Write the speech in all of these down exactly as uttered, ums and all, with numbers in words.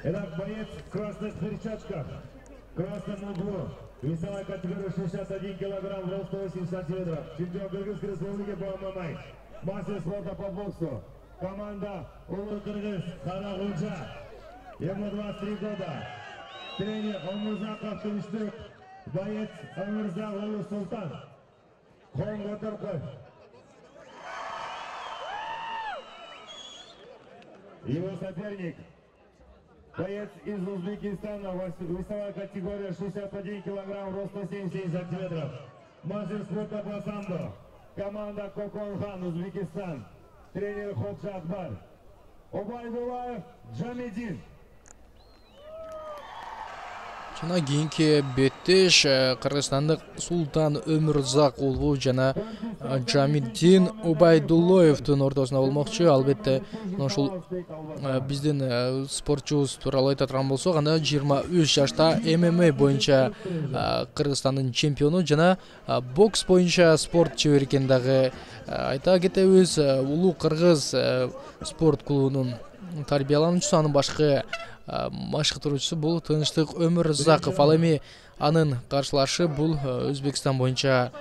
Итак, боец в красных перчатках, в красном углу, весовая категория шестьдесят один килограмм, рост сто восемь сантиметров, чемпион Кыргызской республики по ММА, мастер спорта по боксу, команда Улуу Кыргыз Карагулжа, ему двадцать три года, тренер Омурзаков Тынчтык, боец Омурзак Улуу Султан, Хон Которков. Его соперник, боец из Узбекистана, весовая категория шестьдесят один килограмм, рост сто семьдесят семь сантиметров. Мастер спорта по самбо, команда Коконхан, Узбекистан, тренер Ходжа Акбар. Убайдуллаев Джамидин. Жана кийинки беттеш Кыргызстандык Султан Өмүрзак уулу жана Джамидин Убайдуллоевдун ортосунда болмокчу. Албетте ушул биздин спортчубуз тууралуу айта турган болсок, анда жыйырма үч жашта ММА боюнча Кыргызстандын чемпиону жана бокс боюнча спорт чебери экен дагы айта кетебиз. Улуу Кыргыз спорт клубунун тарбиялануучусу, анын башкы машыктыруучусу бул Тынчтык Өмүрзаков. Ал эми анын каршылашы бул Өзбекстан боюнча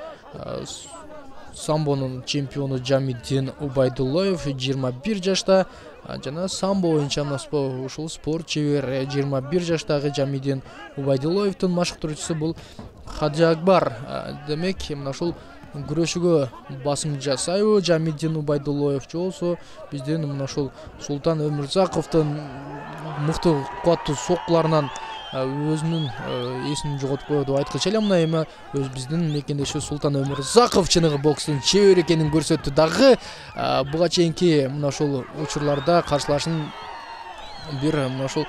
самбонун чемпиону Джамидин Убайдуллоев, жыйырма бир жашта, жана самбо боюнча ушул спорт чебер жыйырма бир жаштагы Джамидин Убайдуллоевдун машыктыруучусу бул Ходжа Акбар. Демек, мына ушул күрөшүүгө басым жасайбы Джамидин Убайдуллоев же болбосо биздин мына ушул Султан Өмүрзаковдун мыкты кубаттуу соккуларынан өзүнүн эсин жоготуп коет деп айткычы элем. Мына эми өз биздин мекендешибиз Султан Өмүрзаков чыныгы бокстун чебери экенин көрсөттү дагы. Буга чейинки мына ушул учурларда каршылашын бир мына ушул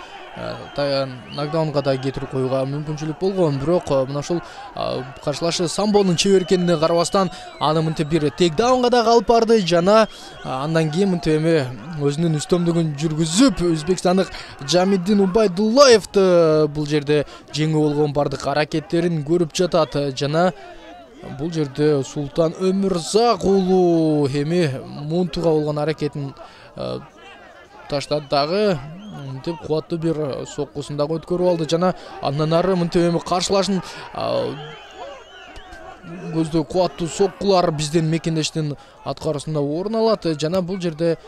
нокдаунга да кетирип коюуга мүмкүнчүлүк болгон, бирок мына ушул каршылашы самбонун чебер экенине карабастан аны мынтип бир тейкдаунга да алып барды жана андан кийин мынтип эми өзүнүн үстөмдүгүн жүргүзүп Өзбекстандык Джамидин Убайдуллоевду бул жерде жеңүү болгон бардык аракеттерин көрүп жатат. Жана бул жерде Султан Өмүрзак уулу эми мунтуга болгон аракетин таштады дагы, мынтип кубаттуу бир соккусун дагы өткөрүп алды жана андан ары мынтип эми каршылашын көздөө кубаттуу соккулар биздин мекендештин аткаруусунда орун алат. Жана бул жерде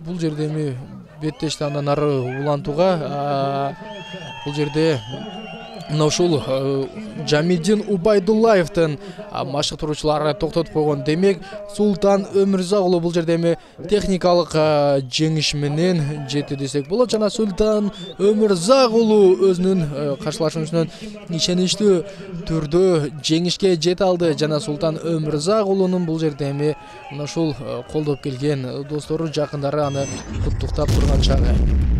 бул жерде эми беттешти андан ары улантууга бул жерде мына ушул Джамидин Убайдуллаевдин машыктыруучулары токтотуп койгон. Демек, Султан Өмүрзак уулу бул жерде эми техникалык жеңиш менен жетти десек болот. Жана Султан Өмүрзак уулу өзүнүн каршылашуусунан ишеничтүү түрдө жеңишке жете алды. Жана Султан Өмүрзак уулунун бул жерде эми мына ушул колдоп келген достору, жакындары аны куттуктап турган чагы.